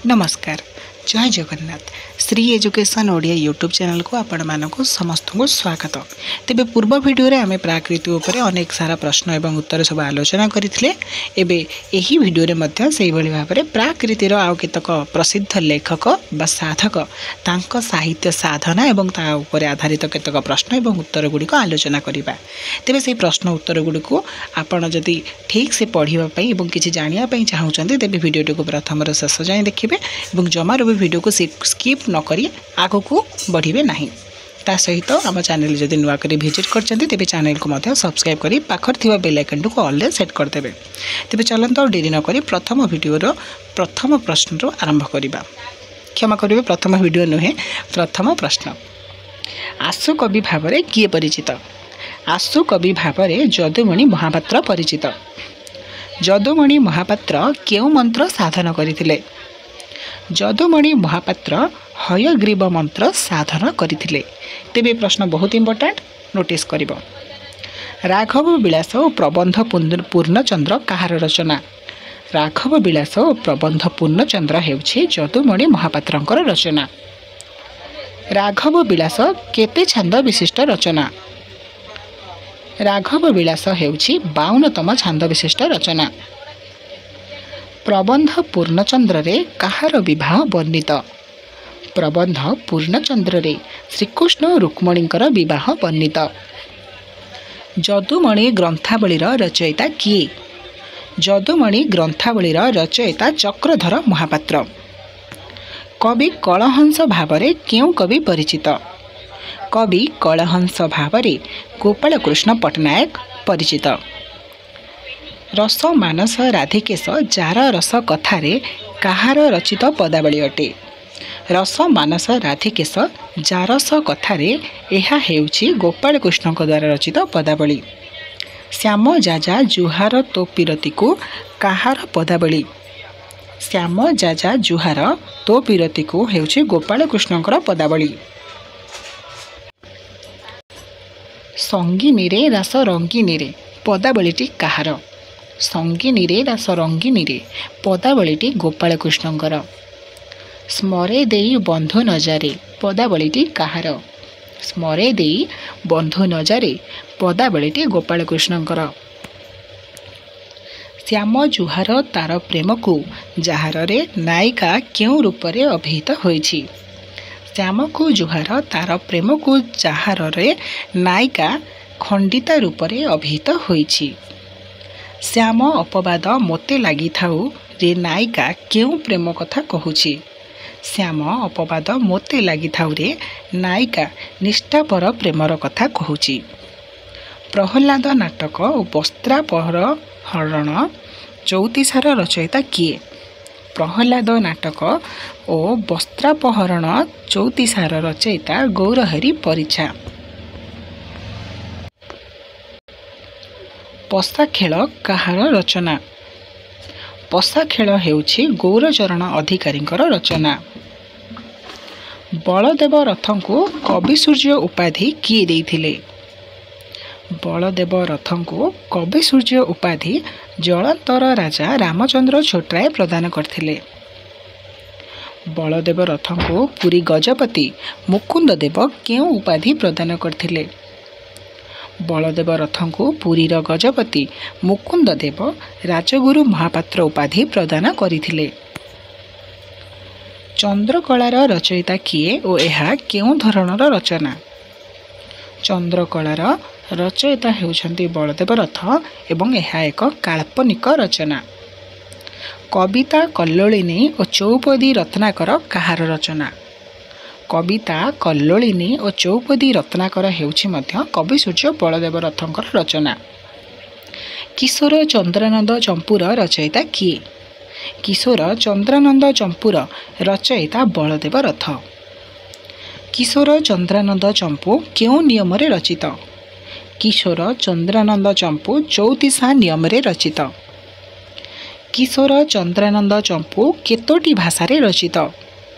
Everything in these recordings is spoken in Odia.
ନମସ୍କାର, ଜୟ ଜଗନ୍ନାଥ। ଶ୍ରୀ ଏଜୁକେସନ୍ ଓଡ଼ିଆ ୟୁଟ୍ୟୁବ୍ ଚ୍ୟାନେଲକୁ ଆପଣମାନଙ୍କୁ ସମସ୍ତଙ୍କୁ ସ୍ୱାଗତ। ତେବେ ପୂର୍ବ ଭିଡ଼ିଓରେ ଆମେ ପ୍ରାକୃତି ଉପରେ ଅନେକ ସାରା ପ୍ରଶ୍ନ ଏବଂ ଉତ୍ତର ସବୁ ଆଲୋଚନା କରିଥିଲେ। ଏବେ ଏହି ଭିଡ଼ିଓରେ ମଧ୍ୟ ସେଇଭଳି ଭାବରେ ପ୍ରାକୃତିର ଆଉ କେତେକ ପ୍ରସିଦ୍ଧ ଲେଖକ ବା ସାଧକ, ତାଙ୍କ ସାହିତ୍ୟ ସାଧନା ଏବଂ ତା ଉପରେ ଆଧାରିତ କେତେକ ପ୍ରଶ୍ନ ଏବଂ ଉତ୍ତର ଗୁଡ଼ିକ ଆଲୋଚନା କରିବା। ତେବେ ସେହି ପ୍ରଶ୍ନ ଉତ୍ତର ଗୁଡ଼ିକୁ ଆପଣ ଯଦି ଠିକ୍ ସେ ପଢ଼ିବା ପାଇଁ ଏବଂ କିଛି ଜାଣିବା ପାଇଁ ଚାହୁଁଛନ୍ତି, ତେବେ ଭିଡ଼ିଓଟିକୁ ପ୍ରଥମରୁ ଶେଷ ଯାଏଁ ଦେଖିବେ ଏବଂ ଜମାରୁ ବି ଭିଡ଼ିଓକୁ ସ୍କିପ୍ ନ କରି ଆଗକୁ ବଢ଼ିବେ ନାହିଁ। ତା ସହିତ ଆମ ଚ୍ୟାନେଲ୍ ଯଦି ନୂଆ କରି ଭିଜିଟ୍ କରିଛନ୍ତି, ତେବେ ଚ୍ୟାନେଲକୁ ମଧ୍ୟ ସବସ୍କ୍ରାଇବ୍ କରି ପାଖରେ ଥିବା ବେଲ୍ ଆଇକନ୍ଟିକୁ ଅଲ୍ରେ ସେଟ୍ କରିଦେବେ। ତେବେ ଚାଲନ୍ତୁ, ଆଉ ଡେରି ନକରି ପ୍ରଥମ ଭିଡ଼ିଓର ପ୍ରଥମ ପ୍ରଶ୍ନରୁ ଆରମ୍ଭ କରିବା। କ୍ଷମା କରିବେ, ପ୍ରଥମ ଭିଡ଼ିଓ ନୁହେଁ, ପ୍ରଥମ ପ୍ରଶ୍ନ। ଆଶୁ କବି ଭାବରେ କିଏ ପରିଚିତ? ଆଶୁ କବି ଭାବରେ ଯଦୁମଣି ମହାପାତ୍ର ପରିଚିତ। ଯଦୁମଣି ମହାପାତ୍ର କେଉଁ ମନ୍ତ୍ର ସାଧନ କରିଥିଲେ? ଯଦୁମଣି ମହାପାତ୍ର ହୟଗ୍ରୀବ ମନ୍ତ୍ର ସାଧନ କରିଥିଲେ। ତେବେ ପ୍ରଶ୍ନ ବହୁତ ଇମ୍ପୋର୍ଟାଣ୍ଟ, ନୋଟିସ୍ କରିବ। ରାଘବ ବିଳାସ ଓ ପ୍ରବନ୍ଧ ପୂର୍ଣ୍ଣଚନ୍ଦ୍ର କାହାର ରଚନା? ରାଘବ ବିଳାସ ଓ ପ୍ରବନ୍ଧ ପୂର୍ଣ୍ଣଚନ୍ଦ୍ର ହେଉଛି ଯଦୁମଣି ମହାପାତ୍ରଙ୍କର ରଚନା। ରାଘବ ବିଳାସ କେତେ ଛାନ୍ଦ ବିଶିଷ୍ଟ ରଚନା? ରାଘବ ବିଳାସ ହେଉଛି 52ତମ ଛାନ୍ଦ ବିଶିଷ୍ଟ ରଚନା। ପ୍ରବନ୍ଧ ପୂର୍ଣ୍ଣଚନ୍ଦ୍ରରେ କାହାର ବିବାହ ବର୍ଣ୍ଣିତ? ପ୍ରବନ୍ଧ ପୂର୍ଣ୍ଣଚନ୍ଦ୍ରରେ ଶ୍ରୀକୃଷ୍ଣ ରୁକ୍ମଣୀଙ୍କର ବିବାହ ବର୍ଣ୍ଣିତ। ଯଦୁମଣି ଗ୍ରନ୍ଥାବଳୀର ରଚୟିତା କିଏ? ଯଦୁମଣି ଗ୍ରନ୍ଥାବଳୀର ରଚୟିତା ଚକ୍ରଧର ମହାପାତ୍ର। କବି କଳହଂସ ଭାବରେ କେଉଁ କବି ପରିଚିତ? କବି କଳହଂସ ଭାବରେ ଗୋପାଳକୃଷ୍ଣ ପଟ୍ଟନାୟକ ପରିଚିତ। ରସ ମାନସ ରାଧିକେଶ ଯାର ରସ କଥାରେ କାହାର ରଚିତ ପଦାବଳୀ ଅଟେ? ରସ ମାନସ ରାଧିକେଶ ଜାରସ କଥାରେ, ଏହା ହେଉଛି ଗୋପାଳକୃଷ୍ଣଙ୍କ ଦ୍ୱାରା ରଚିତ ପଦାବଳୀ। ଶ୍ୟାମ ଯାଜା ଜୁହାର ତୋ ପିରତିକୁ କାହାର ପଦାବଳୀ? ଶ୍ୟାମ ଯାଜା ଜୁହାର ତୋ ପିରତିକୁ ହେଉଛି ଗୋପାଳକୃଷ୍ଣଙ୍କର ପଦାବଳୀ। ସଙ୍ଗିନୀରେ ରାସ ରଙ୍ଗିନୀରେ ପଦାବଳୀଟି କାହାର? ସଙ୍ଗିନୀରେ ରାସ ରଙ୍ଗିନୀରେ ପଦାବଳୀଟି ଗୋପାଳକୃଷ୍ଣଙ୍କର। ସ୍ମରେ ଦେଇ ବନ୍ଧୁ ନଜାରେ ପଦାବଳୀଟି କାହାର? ସ୍ମରେ ଦେଇ ବନ୍ଧୁ ନଜାରେ ପଦାବଳୀଟି ଗୋପାଳକୃଷ୍ଣଙ୍କର। ଶ୍ୟାମ ଜୁହାର ତାର ପ୍ରେମକୁ ଯାହାରରେ ନାୟିକା କେଉଁ ରୂପରେ ଅଭିହିତ ହୋଇଛି? ଶ୍ୟାମକୁ ଜୁହାର ତାର ପ୍ରେମକୁ ଯାହାରରେ ନାୟିକା ଖଣ୍ଡିତା ରୂପରେ ଅଭିହିତ ହୋଇଛି। ଶ୍ୟାମ ଅପବାଦ ମୋତେ ଲାଗିଥାଉ ରେ ନାୟିକା କେଉଁ ପ୍ରେମ କଥା କହୁଛି? ଶ୍ୟାମ ଅପବାଦ ମୋତେ ଲାଗିଥାଉରେ ନାୟିକା ନିଷ୍ଠାପର ପ୍ରେମର କଥା କହୁଛି। ପ୍ରହ୍ଲାଦ ନାଟକ ଓ ବସ୍ତ୍ରାପହର ହରଣ ଚଉତିଶାର ରଚୟିତା କିଏ? ପ୍ରହ୍ଲାଦ ନାଟକ ଓ ବସ୍ତ୍ରାପହରଣ ଚଉତିଶାର ରଚୟିତା ଗୌରହରି ପରିଛା। ପଶାଖେଳ କାହାର ରଚନା? ପଶାଖେଳ ହେଉଛି ଗୌରଚରଣ ଅଧିକାରୀଙ୍କର ରଚନା। ବଳଦେବ ରଥଙ୍କୁ କବିସୂର୍ଯ୍ୟ ଉପାଧି କିଏ ଦେଇଥିଲେ? ବଳଦେବ ରଥଙ୍କୁ କବିସୂର୍ଯ୍ୟ ଉପାଧି ଜଳନ୍ତର ରାଜା ରାମଚନ୍ଦ୍ର ଛୋଟରାୟ ପ୍ରଦାନ କରିଥିଲେ। ବଳଦେବ ରଥଙ୍କୁ ପୁରୀ ଗଜପତି ମୁକୁନ୍ଦ ଦେବ କେଉଁ ଉପାଧି ପ୍ରଦାନ କରିଥିଲେ? ବଳଦେବ ରଥଙ୍କୁ ପୁରୀର ଗଜପତି ମୁକୁନ୍ଦ ଦେବ ରାଜଗୁରୁ ମହାପାତ୍ର ଉପାଧି ପ୍ରଦାନ କରିଥିଲେ। ଚନ୍ଦ୍ରକଳାର ରଚୟିତା କିଏ ଓ ଏହା କେଉଁ ଧରଣର ରଚନା? ଚନ୍ଦ୍ରକଳାର ରଚୟିତା ହେଉଛନ୍ତି ବଳଦେବ ରଥ ଏବଂ ଏହା ଏକ କାଳ୍ପନିକ ରଚନା। କବିତା କଲ୍ଲୋଳିନୀ ଓ ଚୌପଦୀ ରତ୍ନାକର କାହାର ରଚନା? କବିତା କଲ୍ଲୋଳିନୀ ଓ ଚୌପଦୀ ରତ୍ନାକର ହେଉଛି ମଧ୍ୟ କବିସୂର୍ଯ୍ୟ ବଳଦେବ ରଥଙ୍କର ରଚନା। କିଶୋର ଚନ୍ଦ୍ରାନନ୍ଦ ଚମ୍ପୁର ରଚୟିତା କିଏ? କିଶୋର ଚନ୍ଦ୍ରାନନ୍ଦ ଚମ୍ପୁର ରଚୟିତା ବଳଦେବ ରଥ। କିଶୋର ଚନ୍ଦ୍ରାନନ୍ଦ ଚମ୍ପୁ କେଉଁ ନିୟମରେ ରଚିତ? କିଶୋର ଚନ୍ଦ୍ରାନନ୍ଦ ଚମ୍ପୁ ଚଉତିଶା ନିୟମରେ ରଚିତ। କିଶୋର ଚନ୍ଦ୍ରାନନ୍ଦ ଚମ୍ପୁ କେତୋଟି ଭାଷାରେ ରଚିତ?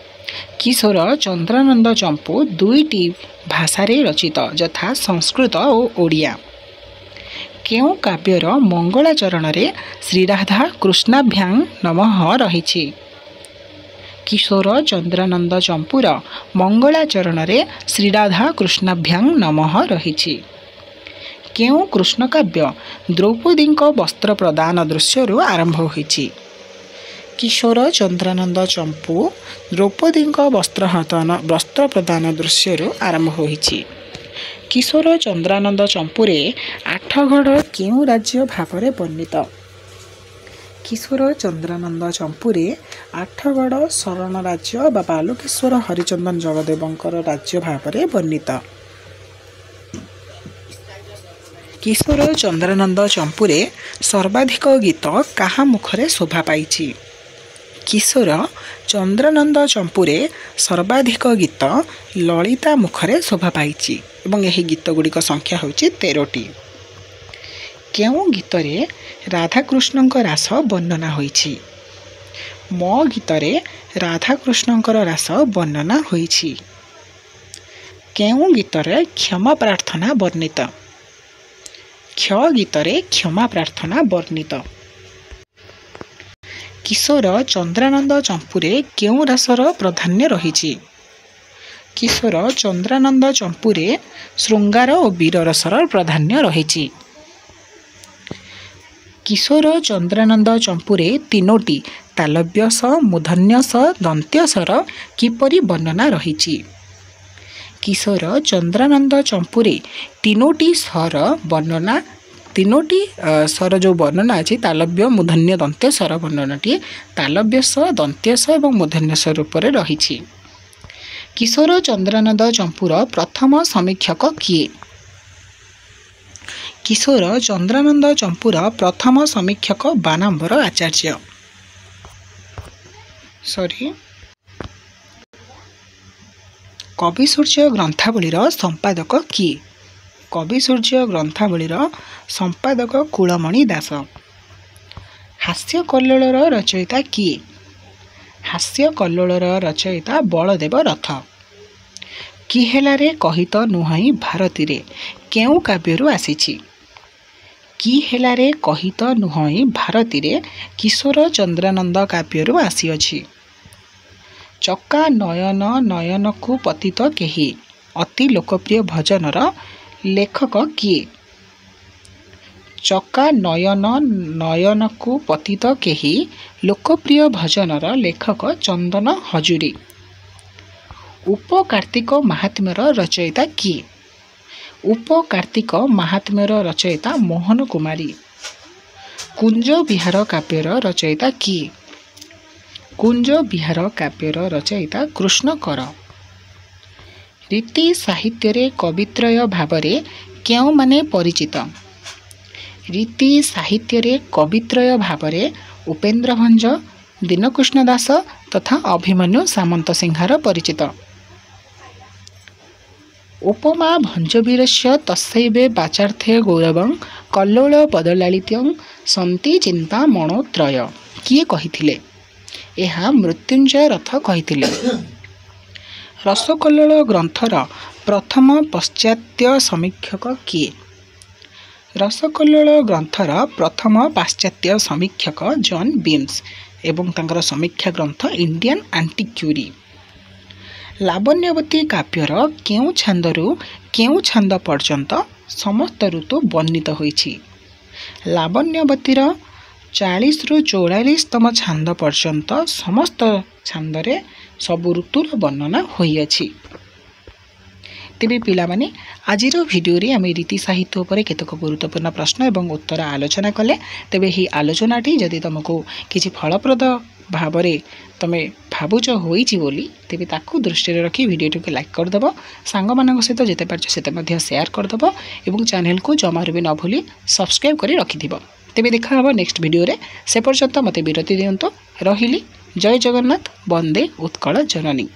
କିଶୋର ଚନ୍ଦ୍ରାନନ୍ଦ ଚମ୍ପୁ 2ଟି ଭାଷାରେ ରଚିତ, ଯଥା ସଂସ୍କୃତ ଓ ଓଡ଼ିଆ। କେଉଁ କାବ୍ୟର ମଙ୍ଗଳାଚରଣରେ ଶ୍ରୀରାଧା କୃଷ୍ଣାଭ୍ୟାଂ ନମଃ ରହିଛି? କିଶୋର ଚନ୍ଦ୍ରାନନ୍ଦ ଚମ୍ପୁର ମଙ୍ଗଳାଚରଣରେ ଶ୍ରୀରାଧା କୃଷ୍ଣାଭ୍ୟାଂ ନମଃ ରହିଛି। କେଉଁ କୃଷ୍ଣକାବ୍ୟ ଦ୍ରୌପଦୀଙ୍କ ବସ୍ତ୍ର ପ୍ରଦାନ ଦୃଶ୍ୟରୁ ଆରମ୍ଭ ହୋଇଛି? କିଶୋର ଚନ୍ଦ୍ରାନନ୍ଦ ଚମ୍ପୁ ଦ୍ରୌପଦୀଙ୍କ ବସ୍ତ୍ର ପ୍ରଦାନ ଦୃଶ୍ୟରୁ ଆରମ୍ଭ ହୋଇଛି। କିଶୋର ଚନ୍ଦ୍ରାନନ୍ଦ ଚମ୍ପୁରେ ଆଠଗଡ଼ କେଉଁ ରାଜ୍ୟ ଭାବରେ ବର୍ଣ୍ଣିତ? କିଶୋର ଚନ୍ଦ୍ରାନନ୍ଦ ଚମ୍ପୁରେ ଆଠଗଡ଼ ଶରଣ ରାଜ୍ୟ ବା ବାଲୁକେଶ୍ୱର ହରିଚନ୍ଦନ ଜଗଦେବଙ୍କର ରାଜ୍ୟ ଭାବରେ ବର୍ଣ୍ଣିତ। କିଶୋର ଚନ୍ଦ୍ରାନନ୍ଦ ଚମ୍ପୁରେ ସର୍ବାଧିକ ଗୀତ କାହା ମୁଖରେ ଶୋଭା ପାଇଛି? କିଶୋର ଚନ୍ଦ୍ରାନନ୍ଦ ଚମ୍ପୁରେ ସର୍ବାଧିକ ଗୀତ ଲଳିତା ମୁଖରେ ଶୋଭା ପାଇଛି ଏବଂ ଏହି ଗୀତଗୁଡ଼ିକ ସଂଖ୍ୟା ହେଉଛି 13ଟି। କେଉଁ ଗୀତରେ ରାଧାକୃଷ୍ଣଙ୍କ ରାସ ବର୍ଣ୍ଣନା ହୋଇଛି? ମୋ ଗୀତରେ ରାଧାକୃଷ୍ଣଙ୍କର ରାସ ବର୍ଣ୍ଣନା ହୋଇଛି। କେଉଁ ଗୀତରେ କ୍ଷମା ପ୍ରାର୍ଥନା ବର୍ଣ୍ଣିତ? କ୍ଷ ଗୀତରେ କ୍ଷମା ପ୍ରାର୍ଥନା ବର୍ଣ୍ଣିତ। କିଶୋର ଚନ୍ଦ୍ରାନନ୍ଦ ଚମ୍ପୁରେ କେଉଁ ରାସର ପ୍ରାଧାନ୍ୟ ରହିଛି? କିଶୋର ଚନ୍ଦ୍ରାନନ୍ଦ ଚମ୍ପୁରେ ଶୃଙ୍ଗାର ଓ ବୀର ରସର ପ୍ରାଧାନ୍ୟ ରହିଛି। କିଶୋର ଚନ୍ଦ୍ରାନନ୍ଦ ଚମ୍ପୁରେ ତିନୋଟି ତାଲବ୍ୟ ସ, ମୂର୍ଧନ୍ୟ ସ, ଦନ୍ତ୍ୟ ସର କିପରି ବର୍ଣ୍ଣନା ରହିଛି? କିଶୋର ଚନ୍ଦ୍ରାନନ୍ଦ ଚମ୍ପୁରେ ତିନୋଟି ସର ବର୍ଣ୍ଣନା, ତିନୋଟି ସର ଯେଉଁ ବର୍ଣ୍ଣନା ଅଛି, ତାଲବ୍ୟ, ମୂର୍ଧନ୍ୟ, ଦନ୍ତ୍ୟ ସର ବର୍ଣ୍ଣନାଟି ତାଲବ୍ୟ ସ, ଦନ୍ତ୍ୟ ସ ଏବଂ ମୂର୍ଧନ୍ୟ ସ ରୂପରେ ରହିଛି। କିଶୋର ଚନ୍ଦ୍ରାନନ୍ଦ ଚମ୍ପୁର ପ୍ରଥମ ସମୀକ୍ଷକ କିଏ? କିଶୋର ଚନ୍ଦ୍ରାନନ୍ଦ ଚମ୍ପୁର ପ୍ରଥମ ସମୀକ୍ଷକ ବାନାମ୍ବର ଆଚାର୍ଯ୍ୟ। ସରି, କବିସୂର୍ଯ୍ୟ ଗ୍ରନ୍ଥାବଳୀର ସମ୍ପାଦକ କିଏ? କବିସୂର୍ଯ୍ୟ ଗ୍ରନ୍ଥାବଳୀର ସମ୍ପାଦକ କୁଳମଣି ଦାସ। ହାସ୍ୟ କଲ୍ଲୋଳର ରଚୟିତା କିଏ? ହାସ୍ୟ କଲ୍ଲୋଳର ରଚୟିତା ବଳଦେବ ରଥ। କି ହେଲାରେ କହିତ ନୁହଁଇ ଭାରତୀରେ କେଉଁ କାବ୍ୟରୁ ଆସିଛି? କି ହେଲାରେ କହିତ ନୁହଁଇ ଭାରତୀରେ କିଶୋର ଚନ୍ଦ୍ରାନନ୍ଦ କାବ୍ୟରୁ ଆସିଅଛି। ଚକା ନୟନ ନୟନକୁ ପତିତ କେହି ଅତି ଲୋକପ୍ରିୟ ଭଜନର ଲେଖକ କିଏ? ଚକା ନୟନ ନୟନକୁ ପତିତ କେହି ଲୋକପ୍ରିୟ ଭଜନର ଲେଖକ ଚନ୍ଦନ ହଜୁରୀ। ଉପକାର୍ତ୍ତିକ ମାହାତ୍ମ୍ୟର ରଚୟିତା କିଏ? ଉପକାର୍ତ୍ତିକ ମାହାତ୍ମ୍ୟର ରଚୟିତା ମୋହନ କୁମାରୀ। କୁଞ୍ଜ ବିହାର କାବ୍ୟର ରଚୟିତା କିଏ? କୁଞ୍ଜ ବିହାର କାବ୍ୟର ରଚୟିତା କୃଷ୍ଣ କର। ରୀତି ସାହିତ୍ୟରେ କବିତ୍ରୟ ଭାବରେ କେଉଁମାନେ ପରିଚିତ? ରୀତି ସାହିତ୍ୟରେ କବିତ୍ରୟ ଭାବରେ ଉପେନ୍ଦ୍ର ଭଞ୍ଜ, ଦୀନକୃଷ୍ଣ ଦାସ ତଥା ଅଭିମନ୍ୟୁ ସାମନ୍ତସିଂହାର ପରିଚିତ। ଉପମା ଭଞ୍ଜବୀରସ୍ୟ ତସ୍ୟୈବ ବାଚାର୍ଥେ ଗୌରବଂ କଲ୍ଲୋଳ ପଦଲାଳିତ୍ୟଂ ସନ୍ତି ଚିନ୍ତାମଣୋତ୍ରୟ କିଏ କହିଥିଲେ? ଏହା ମୃତ୍ୟୁଞ୍ଜୟ ରଥ କହିଥିଲେ। ରସକଲ୍ଲୋଳ ଗ୍ରନ୍ଥର ପ୍ରଥମ ପାଶ୍ଚାତ୍ୟ ସମୀକ୍ଷକ କିଏ? ରସକଲ୍ଲୋଳ ଗ୍ରନ୍ଥର ପ୍ରଥମ ପାଶ୍ଚାତ୍ୟ ସମୀକ୍ଷକ ଜନ୍ ବିମ୍ସ ଏବଂ ତାଙ୍କର ସମୀକ୍ଷା ଗ୍ରନ୍ଥ ଇଣ୍ଡିଆନ୍ ଆଣ୍ଟିକ୍ୟୁରି। ଲାବଣ୍ୟବତୀ କାବ୍ୟର କେଉଁ ଛାନ୍ଦରୁ କେଉଁ ଛାନ୍ଦ ପର୍ଯ୍ୟନ୍ତ ସମସ୍ତ ଋତୁ ବର୍ଣ୍ଣିତ ହୋଇଛି? ଲାବଣ୍ୟବତୀର 40ରୁ 44ତମ ଛାନ୍ଦ ପର୍ଯ୍ୟନ୍ତ ସମସ୍ତ ଛାନ୍ଦରେ ସବୁ ଋତୁର ବର୍ଣ୍ଣନା ହୋଇଅଛି। ତେବେ ପିଲାମାନେ, ଆଜିର ଭିଡ଼ିଓରେ ଆମେ ରୀତି ସାହିତ୍ୟ ଉପରେ କେତେକ ଗୁରୁତ୍ୱପୂର୍ଣ୍ଣ ପ୍ରଶ୍ନ ଏବଂ ଉତ୍ତର ଆଲୋଚନା କଲେ। ତେବେ ଏହି ଆଲୋଚନାଟି ଯଦି ତୁମକୁ କିଛି ଫଳପ୍ରଦ ଭାବରେ ତୁମେ ଭାବୁଛ ହୋଇଛି ବୋଲି, ତେବେ ତାକୁ ଦୃଷ୍ଟିରେ ରଖି ଭିଡ଼ିଓଟିକୁ ଲାଇକ୍ କରିଦେବ, ସାଙ୍ଗମାନଙ୍କ ସହିତ ଯେତେ ପାରୁଛ ସେତେ ମଧ୍ୟ ସେୟାର କରିଦେବ ଏବଂ ଚ୍ୟାନେଲକୁ ଜମାରୁ ବି ନ ଭୁଲି ସବସ୍କ୍ରାଇବ୍ କରି ରଖିଥିବ। ତେବେ ଦେଖା ହେବ ନେକ୍ସଟ ଭିଡ଼ିଓରେ, ସେ ପର୍ଯ୍ୟନ୍ତ ମୋତେ ବିରତି ଦିଅନ୍ତୁ। ରହିଲି, ଜୟ ଜଗନ୍ନାଥ, ବନ୍ଦେ ଉତ୍କଳ ଜନନୀ।